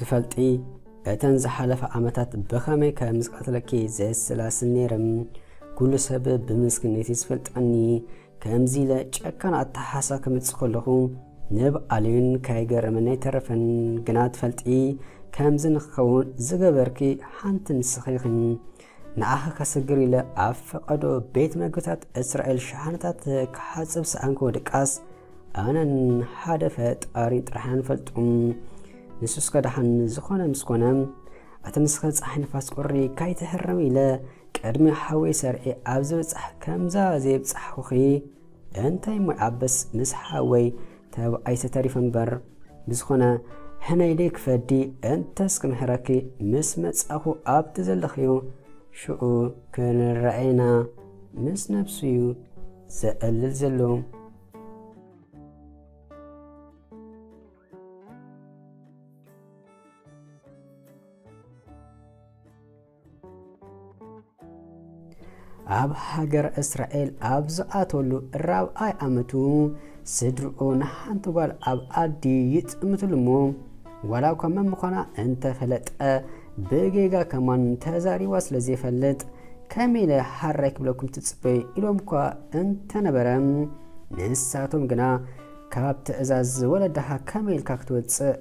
ትፈልጢ፣ እተን ዝሓለፈ ዓመታት ብኸመይ ከም ዝቐትለኪ ዘስላስል ነይረ። ኩሉ ሰብ ብምስክነት እዩ ዝፈልጠኒ። ከምዚ ኢለ ጨካን ኣተሓሳ ክምጽእ ከለኹ ንብዓለይን ከይገረመኒ ኣይተረፈን። ግና ትፈልጢ፣ ከምዚ ንክኸውን ዝገበርኪ ሓንቲ ንስኺ ኢኺ። ንዓኺ ከሰግር ኢለ ኣብ ፈቐዶ ቤት መግብታት እስራኤል ሸሓነታት ክሓጽብ ሰኣንኩ ድቃስ ኣነን ሓደ ፈጣሪ ጥራሕ ኢና ንፈልጡ። ንሱስ ከ ደሓን ዝኾነ ምስ ኮነ፣ ኣቲ ንስኺ ጸሓይ ንፋስ ቁሪ ካይትህረም ኢለ ቅድሚ ሓወይ ሰርዒ ኣብ ዝብጻሕ ከምዛ ዘይብጻሕኹኺ እንታይ እሞ ይዓብስ ምስ ሓወይ ተባኢሰ ተሪፈ እምበር። ብዝኾነ፣ ሕነይለይ ክፈዲ እንተስ ክምሕረኪ ምስ መጻኹ ኣብቲ ዘለኽዮ ሽዑ ክንረኣየና ምስ ነብሱ እዩ ዘዕልል ዘሎ። ኣብ ሃገር እስራኤል ኣብ ዝኣተሉ ራብዓይ ዓመቱ ስድርኡ ንሓንቲ ጓል ኣብ ዓዲ ይጥምትሉ እሞ ዋላ እኳ መን ምዃና እንተፈለጠ ብጌጋ ከማን ተዛሪባ ስለ ዘይፈልጥ ከመይ ኢለ ሓራይ ክብለኩም ትጽበዩ ኢሎም እኳ እንተነበረ ንሳቶም ግና ካብ ትእዛዝ ወለድኻ ከመይ ኢልካ ክትወጽእ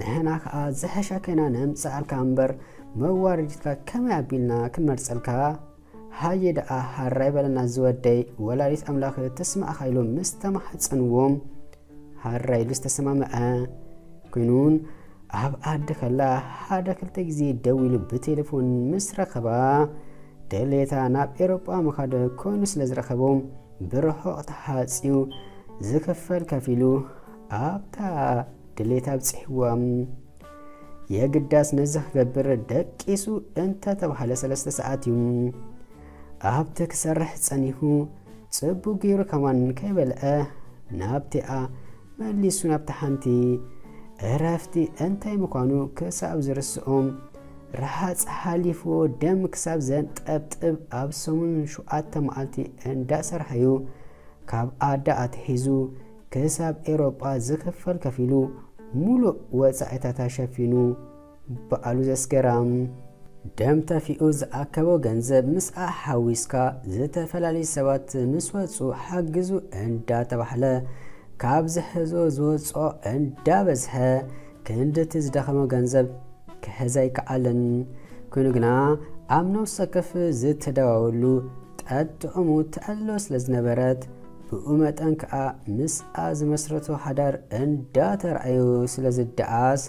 ንሕና ከኣ ዝሐሸ ከይና ነምጽኣልካ እምበር መዋረዲትካ ከመይ ኣቢልና ክንመርጸልካ? ሃየ ደኣ ሃራይ በለና ዝወደይ ወላዲት ኣምላኽ ትስማዕኻ ኢሎም ምስ ተማሕጸንዎም ሃራይ ኢሉ ዝተሰማምዐ ኮይኑን ኣብ ዓዲ ከላ ሓደ ክልተ ግዜ ደዊሉ ብቴሌፎን ምስ ረኸባ ድሌታ ናብ ኤሮጳ ምኻድ ኮይኑ ስለ ዝረኸቦ ብርሑቕ ተሓጽዩ ዝኽፈል ከፊሉ ኣብታ ድሌታ ኣብጺሕዋ። የግዳስ ነዚ ክገብር ደቂሱ እንተተባህለ ሰለስተ ሰዓት እዩ። ኣብቲ ክሰርሕ ጸኒሑ ጽቡቕ ገይሩ ከማን ከይበልዐ ናብቲኣ መሊሱ ናብታ ሓንቲ እረፍቲ እንታይ ምዃኑ ክሳብ ዝርስኦም ረሃጽ ሓሊፍዎ ደም ክሳብ ዘንጠብጥብ ኣብ ሰሙን ሸውዓተ መዓልቲ እንዳሰርሐ እዩ ካብ ዓዲ ኣትሒዙ ክሳብ ኤሮጳ ዝኽፈል ከፊሉ ሙሉእ ወጻኢታታ ሸፊኑ በዓሉ ዘስገራም ደም ተፊኡ ዝኣከቦ ገንዘብ ምስኣ ሓዊስካ ዝተፈላለዩ ሰባት ምስ ወጹ ሓግዙ እንዳተባህለ ካብ ዝሕዞ ዝወጽኦ እንዳበዝሐ ክንድቲ ዝደኸሞ ገንዘብ ክሕዝ ኣይከኣለን። ኮይኑ ግና ኣብ ነፍሲ ወከፍ ዝተዳወሉ ጠጥዑሙ ትዕሎ ስለ ዝነበረት ብኡ መጠን ከኣ ምስኣ ዝመስረቶ ሓዳር እንዳተራእዩ ስለ ዝደኣስ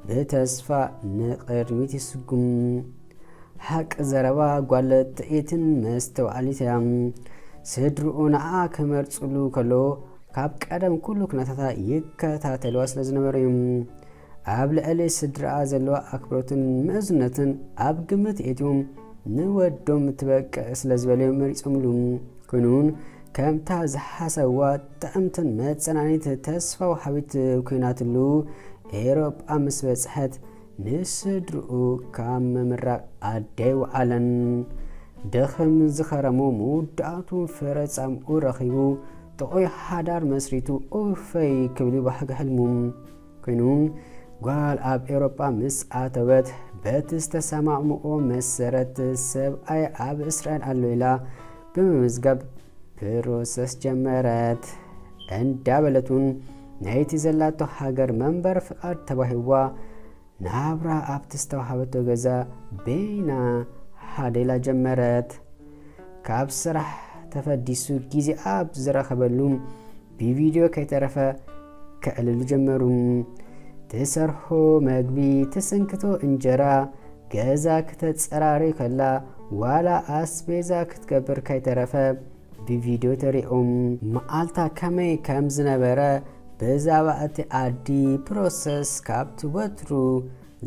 ብተስፋ ንቕድሚት ይስጉም። ሓቂ ዘረባ ጓል ጥዒትን መስተውዓሊት እያ። ስድርኡ ንዓ ክመርጽሉ ከሎ ካብ ቀደም ኩሉ ኩነታታ ይከታተልዋ ስለ ዝነበሩ እዮም። ኣብ ልዕሊ ስድርኣ ዘለዋ ኣክብሮትን ምእዝነትን ኣብ ግምት የእትዮም ንወዶም ትበቅዕ ስለ ዝበለዮም መሪጾምሉ። ኮይኑ እውን ከምታ ዝሓሰብዋ ጥዕምትን መጸናኒት ተስፋ ወሃቢት ኮይናትሉ ኤሮጳ ምስ በጽሐት ንስድርኡ ካብ ምምራቕ ኣደይ ወዓለን። ደኽም ዝኸረሞ መወዳእቱ ፍረ ጻምኡ ረኺቡ ጥዑይ ሓዳር መስሪቱ ኡፈይ ክብል ይባሕግ ሕልሙ። ኮይኑ ጓል ኣብ ኤሮጳ ምስ ኣተወት በቲ ዝተሰማምኦ መሰረት ሰብኣይ ኣብ እስራኤል ኣሎ ኢላ ብምምዝጋብ ፕሮሰስ ጀመረት። እንዳበለት እውን ናይቲ ዘላቶ ሃገር መንበር ፍቓድ ተዋሂብዋ ናብራ ኣብቲ ዝተዋሃበቶ ገዛ በይና ሓደላ ጀመረት። ካብ ስራሕ ተፈዲሱ ግዜ ኣብ ዝረኸበሉ ብቪድዮ ከይተረፈ ከዕልሉ ጀመሩ። ትሰርሖ መግቢ፣ ትስንክቶ እንጀራ፣ ገዛ ክተጸራሪ ከላ ዋላ ኣስቤዛ ክትገብር ከይተረፈ ብቪድዮ ተሪኦም መዓልታ ከመይ ከም ዝነበረ ብዛዕባ እቲ ዓዲ ፕሮሰስ ካብቲ ወትሩ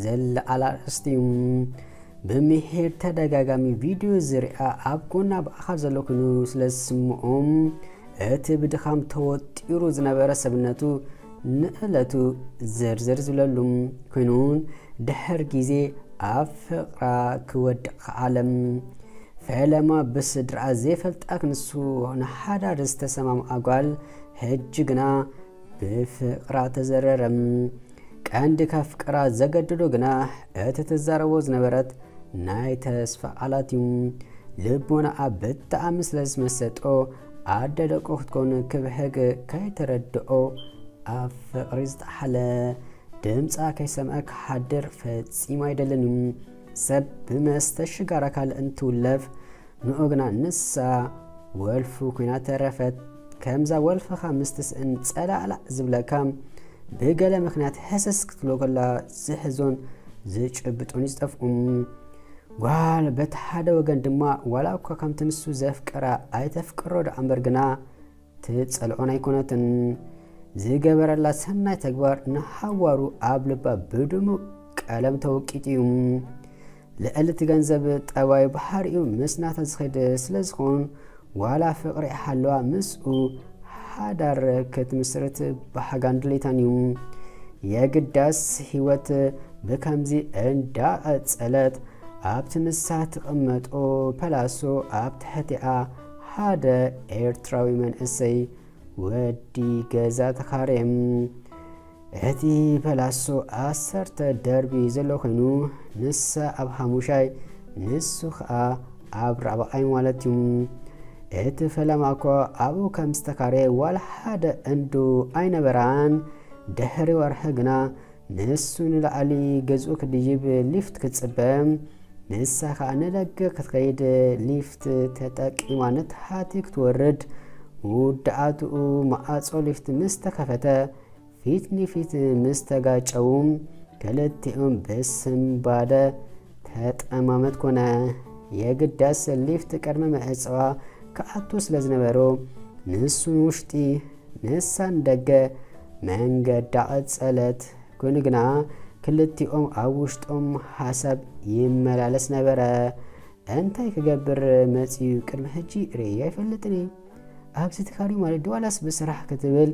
ዘለዓል ኣርእስቲ እዩ። ብምሒር ተደጋጋሚ ቪድዮ ዝሪኣ ኣብ ጎና ብኣኻል ዘሎ ኮይኑ ስለ ዝስምዖም እቲ ብድኻም ተወጢሩ ዝነበረ ሰብነቱ ንዕለቱ ዝርዝር ዝብለሉ ኮይኑን ድሕር ግዜ ኣብ ፍቕራ ክወድቕ ከዓለም። ፈለማ ብስድራ ዘይፈልጣ ክንሱ ንሓዳር ዝተሰማምዓ ጓል ሕጂ ግና ብፍቕራ ተዘረረ። እንዲ ከፍቅራ ዘገድዶ ግና እቲ ትዛረቦ ዝነበረት ናይ ተስፋ ቃላት እዩ። ልቦናኣ ብጣዕሚ ስለ ዝመሰጦ ኣደ ደቁ ክትኮን ክብህግ ከይተረድኦ ኣብ ፍቕሪ ዝጠሓለ ድምፃ ከይሰምዐ ክሓድር ፈጺሙ ኣይደልን እዩ። ሰብ ብመስተ ሽጋራ ካልእ እንትውለፍ ንኡ ግና ንሳ ወልፉ ኮይና ተረፈት። ከምዛ ወልፍኻ ምስ ትስእን ጸላዕላዕ ዝብለካ ብገለ ምኽንያት ሕስስ ክትብሎ ከላ ዝሕዞን ዝጭብጦን ይዝጠፍኡ። ጓል በቲ ሓደ ወገን ድማ ዋላ እኳ ከምቲ ንሱ ዘፍቅራ ኣይተፍቅሮ ደኣ እምበር ግና ትጸልኦን ኣይኮነትን። ዝገበረላ ሰናይ ተግባር ንሓዋሩ ኣብ ልባ ብድሙቕ ቀለም ተወቂጡ እዩ። ልዕሊ እቲ ገንዘብ ጠባዩ ባህሪኡ ምስ ናታ ዝኸይድ ስለ ዝኾን ዋላ ፍቕሪ ሓለዋ ምስኡ ሓዳር ክትምስርት ብሓጋን ድሌታን እዩ። የግዳስ ህይወት ብከምዚ እንዳቐጸለት ኣብቲ ንሳ ትቕመጦ ፐላሶ ኣብ ትሕቲኣ ሓደ ኤርትራዊ መንእሰይ ወዲ ገዛ ተኻርየ። እቲ ፐላሶ ዓሰርተ ደርቢ ዘሎ ኮይኑ ንሳ ኣብ ሓሙሻይ ንሱ ኸኣ ኣብ ራብዓይ ማለት እዩ። እቲ ፈለማ እኳ ኣብኡ ከም ዝተኻርየ ዋላ ሓደ እንዶ ኣይነበራን። ድሕሪ ወርሒ ግና ንሱ ንላዕሊ ገዝኡ ክድይብ ሊፍት ክትጽበ፣ ንሳ ኸኣ ንደገ ክትኸይድ ሊፍት ተጠቂማ ንታሕቲ ክትወርድ ምውዳኣትኡ መዓጾ ሊፍት ምስ ተኸፈተ ፊት ንፊት ምስ ተጋጨዉ ክልቲኦም ብስንባደ ተጠማመት ኮነ። የግዳስ ሊፍት ቅድሚ ምዕጻዋ ክኣቱ ስለ ዝነበሮ ንሱ ንውሽጢ ንሳ ንደገ መንገዳ ቀጸለት። ኮይኑ ግና ክልቲኦም ኣብ ውሽጦም ሓሳብ ይመላለስ ነበረ። እንታይ ክገብር መጺኡ ቅድሚ ሕጂ ርእየ ኣይፈልጥን እየ። ኣብዚ ትካሪ ማለት ድዋላስ ብስራሕ ክትብል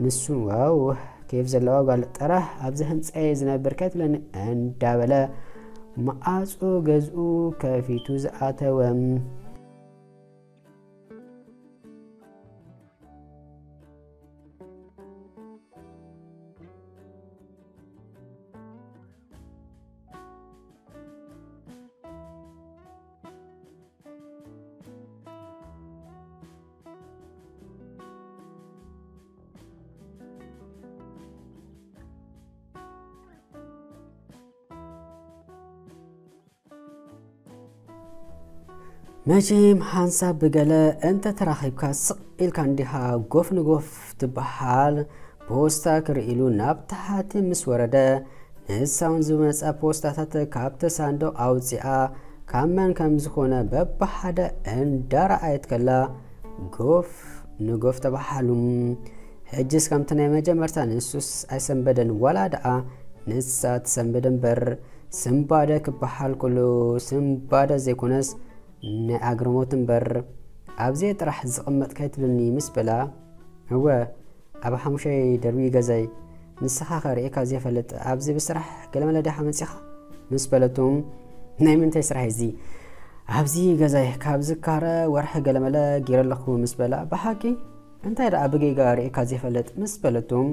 ንሱ ዋው ኬፍ ዘለዋ ጓል ጥራሕ ኣብዚ ህንጻ እየ ዝነብር ከትብለኒ እንዳበለ መዓጾ ገዝኡ ከፊቱ ዝኣተወ። መቼም ሓንሳብ ብገለ እንተ ተራኺብካ ስቕ ኢልካ እንዲኻ ጎፍ ንጎፍ ትበሃል። ፖስታ ክርኢ ኢሉ ናብ ታሕቲ ምስ ወረደ፣ ንሳ እውን ዝመጻ ፖስታታት ካብቲ ሳንዱቕ ኣውጺኣ ካብ መን ከም ዝኾነ በብሓደ እንዳረኣየት ከላ ጎፍ ንጎፍ ተበሃሃሉ። ሕጅስ ከምቲ ናይ መጀመርታ ንሱስ ኣይሰንበደን፣ ዋላ ደኣ ንሳ ትሰንብድ እምበር። ስንባደ ክበሃል ከሎ ስንባደ ዘይኮነስ ናይ ኣግርሞት እምበር። ኣብዚኣ ጥራሕ ዝቕመጥ ከይትብልኒ ምስ በላ፣ እወ፣ ኣብ ሓሙሻይ ደርቢ ገዛይ፣ ንስኻ ከ ርኤካ ዘይፈልጥ ኣብዚ ብስራሕ ገለመለ ዲኻ መጺኻ? ምስ በለቶም፣ ናይ ምንታይ ስራሕ እዚ? ኣብዚ ገዛይ ካብ ዝካረ ወርሒ ገለመለ ገይረ ኣለኹ ምስ በላ፣ ብሓቂ? እንታይ ደኣ ብጌጋ ርኤካ ዘይፈልጥ? ምስ በለቶም፣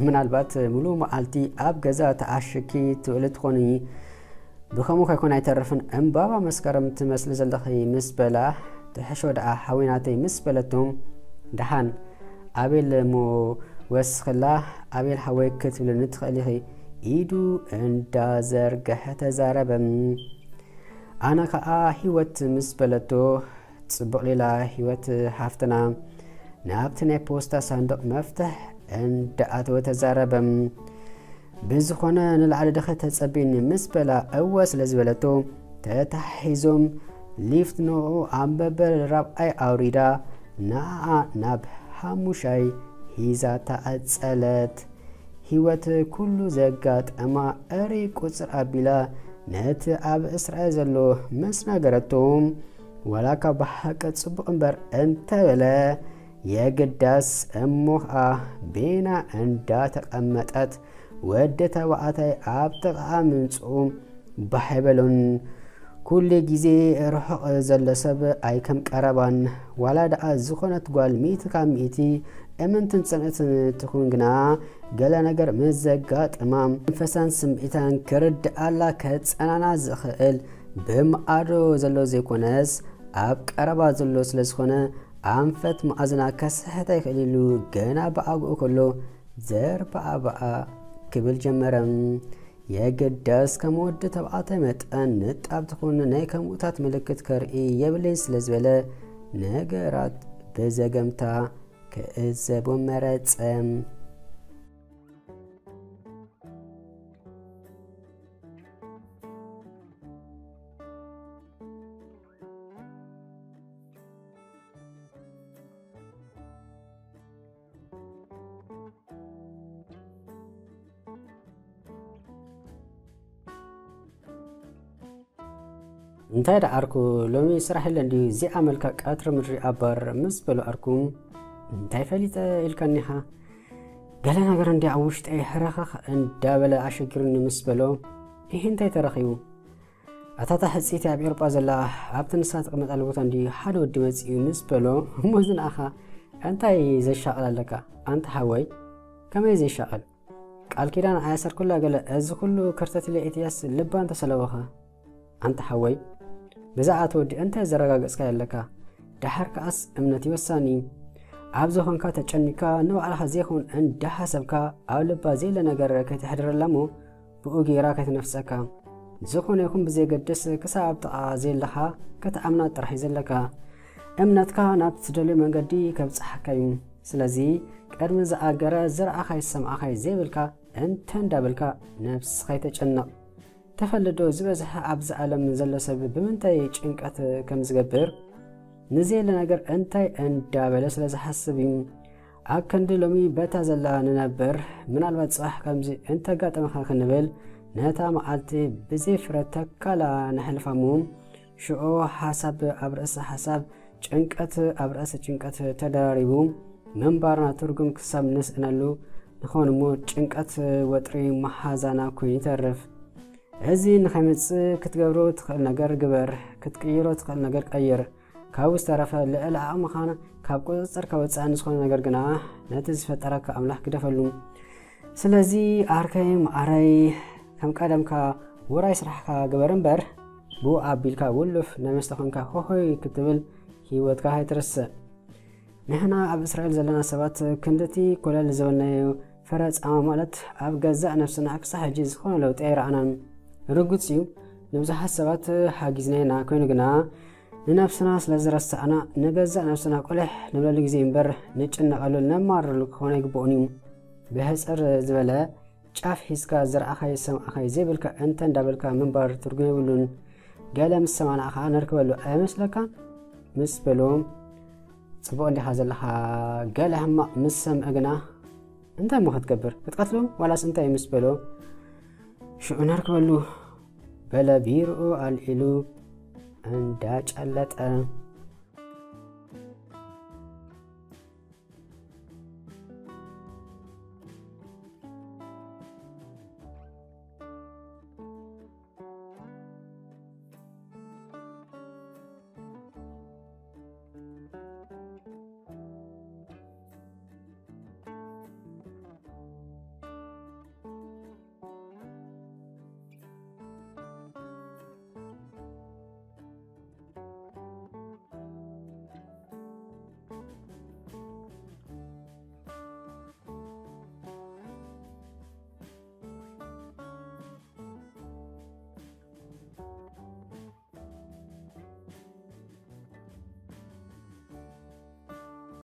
ምናልባት ምሉእ መዓልቲ ኣብ ገዛ ተኣሽኪ ትውዕሊ ትኾኒ፣ ብኸምኡ ከይኮነ ኣይተርፍን። ዕምባባ መስከረም ትመስሊ ዘለኺ ምስ በላ፣ ትሕሾ ደኣ ሓወይ ናተይ ምስ በለቶም፣ ደሓን ኣቤል እሞ ወስኽላ፣ ኣቤል ሓወይ ክትብልኒ ትኽእሊ ኢኺ፣ ኢዱ እንዳዘርገሐ ተዛረበ። ኣነ ኸኣ ህይወት ምስ በለቶ፣ ጽቡቕ ሌላ ህይወት ሃፍትና ናብቲ ናይ ፖስታ ሳንዱቕ መፍትሕ እንዳኣተወ ተዛረበ። ብዝኾነ ንላዕሊ ድኸ ተጸቢኒ ምስ በላ እወ ስለ ዝበለቶ፣ ተታሒዞም ሊፍት ንኡ ኣብ መበል ራብዓይ ኣውሪዳ ንኣኣ ናብ ሓሙሻይ ሂዛታ ቀጸለት። ህይወት ኩሉ ዘጋጠማ እሪ ቁጽር ኣቢላ ነቲ ኣብ እስራኤል ዘሎ ምስ ነገረቶ፣ ዋላ ካብ ብሓቂ ጽቡቕ እምበር እንተበለ፣ የግዳስ እሞ ኸኣ ቤና እንዳተቐመጠት ወዲ ተባዕታይ ኣብ ጥቓኣ ምምጽኡ ባሕ ኣይበሎን። ኩሉ ግዜ ርሑቕ ዘሎ ሰብ ኣይከም ቀረባን። ዋላ ደኣ ዝኾነት ጓል ሚእቲ ካብ ሚእቲ እምንትን ጽንዕትን ትኹን ግና፣ ገለ ነገር ምስ ዘጋጥማ፣ መንፈሳን ስምዒታን ክርድኣላ ከጸናና ዝኽእል ብማዕዶ ዘሎ ዘይኮነስ፣ ኣብ ቀረባ ዘሎ ስለ ዝኾነ፣ ኣንፈት መኣዝና ከስሕት ኣይክእል ኢሉ ገና ብኣግኡ ከሎ፣ ዘርባኣባኣ ክብል ጀመረ። የግዳስ ከም ወዲ ተባዕታይ መጠን ንጣብ ትኹን ናይ ከምኡታት ምልክት ከርኢ የብለይን ስለ ዝበለ፣ ነገራት ብዘገምታ ክዕዘቦ መረጸ። እንታይ ደኣ ዓርኩ፣ ሎሚ ስራሕ የለን ድዩ? እዚኣ መልካ ቀትሪ ምድሪ ኣባር ምስ በሎ ዓርኩ፣ እንታይ ፈሊጠ ኢልካኒኻ? ገለ ነገር እንዲ ኣብ ውሽጠይ ሕረኽኽ እንዳበለ ኣሸጊሩኒ ምስ በሎ፣ ይህ እንታይ ተረኺቡ? ኣታ እታ ሕጽይቲ ኣብ ኤውሮጳ ዘላ ኣብቲ ንሳ ትቕመጣሉ ቦታ እንዲ ሓደ ወዲ መጺኡ ምስ በሎ፣ እሞ እዚ ንኣኻ እንታይ ዘሻቕል ኣለካ? ኣንታ ሓወይ፣ ከመይ ዘይሻቐል? ቃል ኪዳን ኣያሰርኩላ ገለ፣ እዚ ኩሉ ከርተት ኢለ ኢትያስ ልባ እንተሰለወኸ? ኣንታ ሓወይ፣ ብዛዕባ እቲ ወዲ እንታይ ዘረጋገጽካዮ ኣለካ? ደሓር ከኣስ እምነት እዩ ወሳኒ። ኣብ ዝኾንካ ተጨኒካ ንባዕልኻ ዘይኮን እንዳሓሰብካ ኣብ ልባ ዘየለ ነገር ከይተሕድረላ እሞ ብኡ ገይራ ከይትነፍጸካ። ዝኾነ ይኹን ብዘየገድስ ክሳብ ኣብ ጥቓ ዘየለኻ ክትኣምና ጥራሕ እዩ ዘለካ። እምነትካ ናብቲ ትደልዮ መንገዲ ከብጽሓካ እዩ። ስለዚ ቅድሚ ዝኣገረ ዝረኣኻይ ዝሰምዓኻይ ዘይብልካ እንተ እንዳበልካ ነብስኻ ኣይተጨንቕ። ተፈልዶ ዝበዝሐ ኣብዚ ዓለም ዘሎ ሰብ ብምንታይ ጭንቀት ከም ዝገብር ንዘየለ ነገር እንታይ እንዳበለ ስለ ዝሓስብ እዩ። ኣብ ክንዲ ሎሚ በታ ዘላ ንነብር፣ ምናልባት ጽባሕ ከምዚ እንተጋጠመኻ ክንብል ነታ መዓልቲ ብዘይ ፍረ ተካላ ነሕልፋ እሞ ሽዑ ሓሳብ ኣብ ርእሲ ሓሳብ፣ ጭንቀት ኣብ ርእሲ ጭንቀት ተደራሪቡ ምንባርና ትርጉም ክሳብ ንስእነሉ ንኸውን እሞ ጭንቀት ወጥሪ መሓዛና ኮይኑ ይተርፍ። እዚ ንኸይመጽእ ክትገብሮ ትኽእል ነገር ግበር፣ ክትቅይሮ ትኽእል ነገር ቀይር። ካብኡ ዝተረፈ ልዕሊ ዓቕምኻን ካብ ቁጽጽርካ ወጻኢ ንዝኾነ ነገር ግና ነቲ ዝፈጠረካ ኣምላኽ ግደፈሉ። ስለዚ ዓርከይ መዓረይ ከም ቀደምካ ውራይ ስራሕካ ግበር እምበር ብኡ ኣቢልካ ውሉፍ ናይ መስተ ኮንካ ሆሆይ ክትብል ህይወትካ ኣይትርስእ። ንሕና ኣብ እስራኤል ዘለና ሰባት ክንድቲ ኮለል ዝበልናዮ ፍረ ጻማ ማለት ኣብ ገዛእ ነብስና ክሳብ ሕጂ ዝኾነ ለውጢ ኣይረኣናን። ርጉጽ እዩ፣ ንብዙሓት ሰባት ሓጊዝና ኢና፣ ኮይኑ ግና ንነብስና ስለ ዝረሳዕና ንገዛእ ነብስና ቆሊሕ ንብለሉ ግዜ እምበር ንጭነቐሉ ነማርረሉ ክኾን ኣይግብኦን እዩ። ብሕጽር ዝበለ ጫፍ ሒዝካ ዝረኣኻዮ ዝሰማዕኻዮ ዘይብልካ እንተ እንዳበልካ ምንባር ትርጉም የብሉን። ገለ ምስ ሰማዕና ኸዓ ነርክበሉ ኣይመስለካን? ምስ በልዎም፣ ጽቡቕ እንዲኻ ዘለኻ፣ ገለ ሕማቕ ምስ ሰምዐ ግና እንታይ እሞ ክትገብር? ክትቀትሎም ዋላስ እንታይ ምስ በሎ ሽዑ ነርክበሉ በለ ቢርኡ ኣልዒሉ እንዳጨለጠ።